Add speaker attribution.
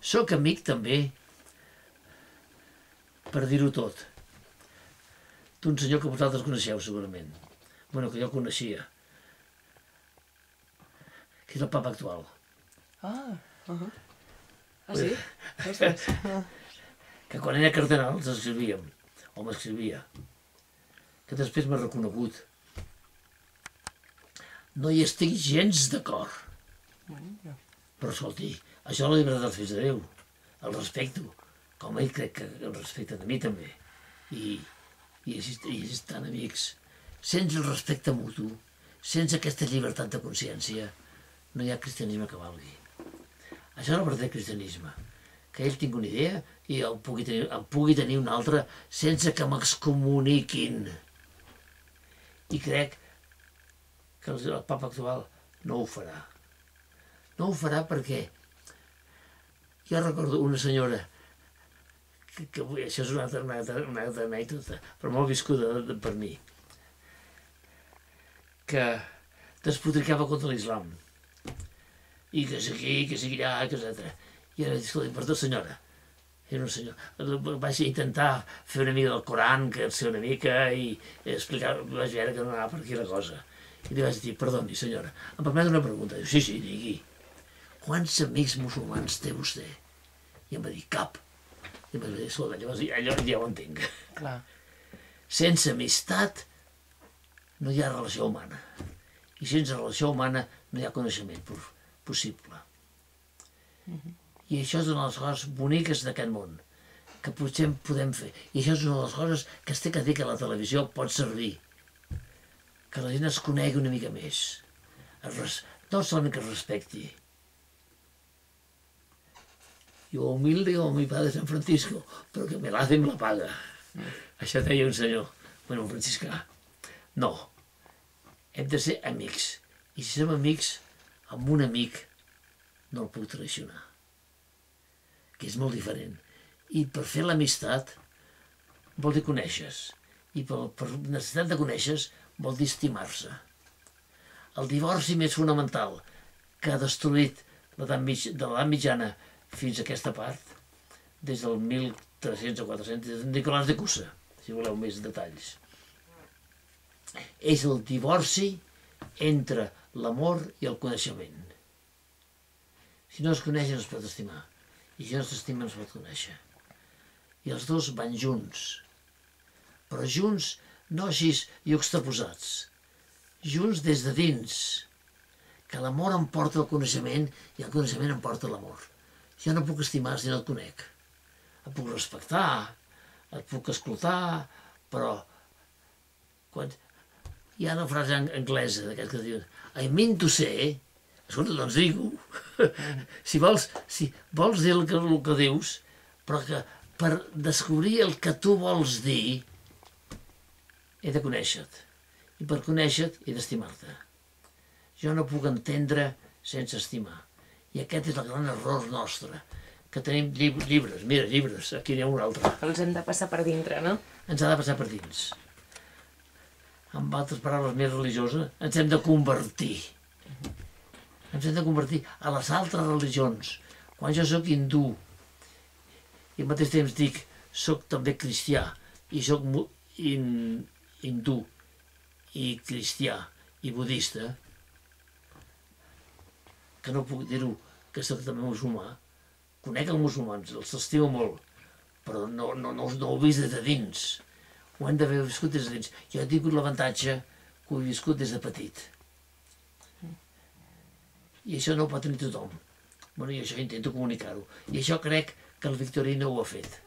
Speaker 1: Soc amic també, per dir-ho tot, d'un senyor que vosaltres coneixeu segurament. Bueno, que jo coneixia. Que és el papa actual.
Speaker 2: Ah, sí? Ostres.
Speaker 1: Que quan era cardenal ens escrivíem, o m'escrivia, que després m'ha reconegut. No hi estic gens d'acord. Però escolti, això la llibertat dels fills de Déu, el respecto, com ell crec que el respecten a mi també. I així estan amics. Sense el respecte mutu, sense aquesta llibertat de consciència, no hi ha cristianisme que valgui. Això és el verdader cristianisme, que ell tingui una idea i en pugui tenir una altra sense que m'excomuniquin. I crec que el papa actual no ho farà. No ho farà perquè jo recordo una senyora que això és una altra anècdota, però molt viscuda per mi, que despotricava contra l'islam. I que és aquí, que és allà, que és altre. I ara dic, escolta, perdó senyora, era una senyora, vaig intentar fer una mica del Coran, que ser una mica, i explicar, vaig veure que no anava per aquí la cosa. I li vaig dir, perdoni senyora, em permet una pregunta? Diu, sí, digui. Quants amics musulmans té vostè? I em va dir, cap. I em va dir, escolta, llavors allò ja ho entenc.
Speaker 2: Clar.
Speaker 1: Sense amistat no hi ha relació humana. I sense relació humana no hi ha coneixement possible. I això és una de les coses boniques d'aquest món, que potser podem fer. I això és una de les coses que es té que dir que la televisió pot servir. Que la gent es conegui una mica més. No solament que es respecti. Yo humilde como mi padre San Francisco, però que me la hace me la paga. Això deia un senyor, bueno, un franciscà. No, hem de ser amics. I si som amics, amb un amic no el puc traicionar. Que és molt diferent. I per fer l'amistat vol dir conèixer. I per necessitat de conèixer vol dir estimar-se. El divorci més fonamental que ha destruït de l'edat mitjana fins a aquesta part, des del 1300 o 400, des de Nicolàs de Cusa, si voleu més detalls. És el divorci entre l'amor i el coneixement. Si no es coneix no es pot estimar, i si no s'estima no es pot conèixer. I els dos van junts, però junts no així juxtaposats, junts des de dins, que l'amor em porta el coneixement i el coneixement em porta l'amor. Jo no puc estimar si no et conec. Et puc respectar, et puc escoltar, però hi ha una frase anglesa d'aquest que diu I mean to say, escolta, doncs digue-ho. Si vols dir el que dius, però que per descobrir el que tu vols dir he de conèixer-te. I per conèixer-te he d'estimar-te. Jo no puc entendre sense estimar. I aquest és el gran error nostre, que tenim llibres, mira, llibres, aquí n'hi ha un altre.
Speaker 2: Els hem de passar per dintre, no?
Speaker 1: Ens ha de passar per dins. Amb altres paraules més religioses, ens hem de convertir. Ens hem de convertir a les altres religions. Quan jo sóc hindú, i al mateix temps dic, sóc també cristià, i sóc hindú, i cristià, i budista, que no puc dir-ho, que soc també musulmà. Conec els musulmans, els estimo molt, però no ho he vist des de dins. Ho hem d'haver viscut des de dins. Jo he tingut l'avantatge que ho he viscut des de petit. I això no ho pot tenir tothom. I això intento comunicar-ho. I això crec que el Victorí no ho ha fet.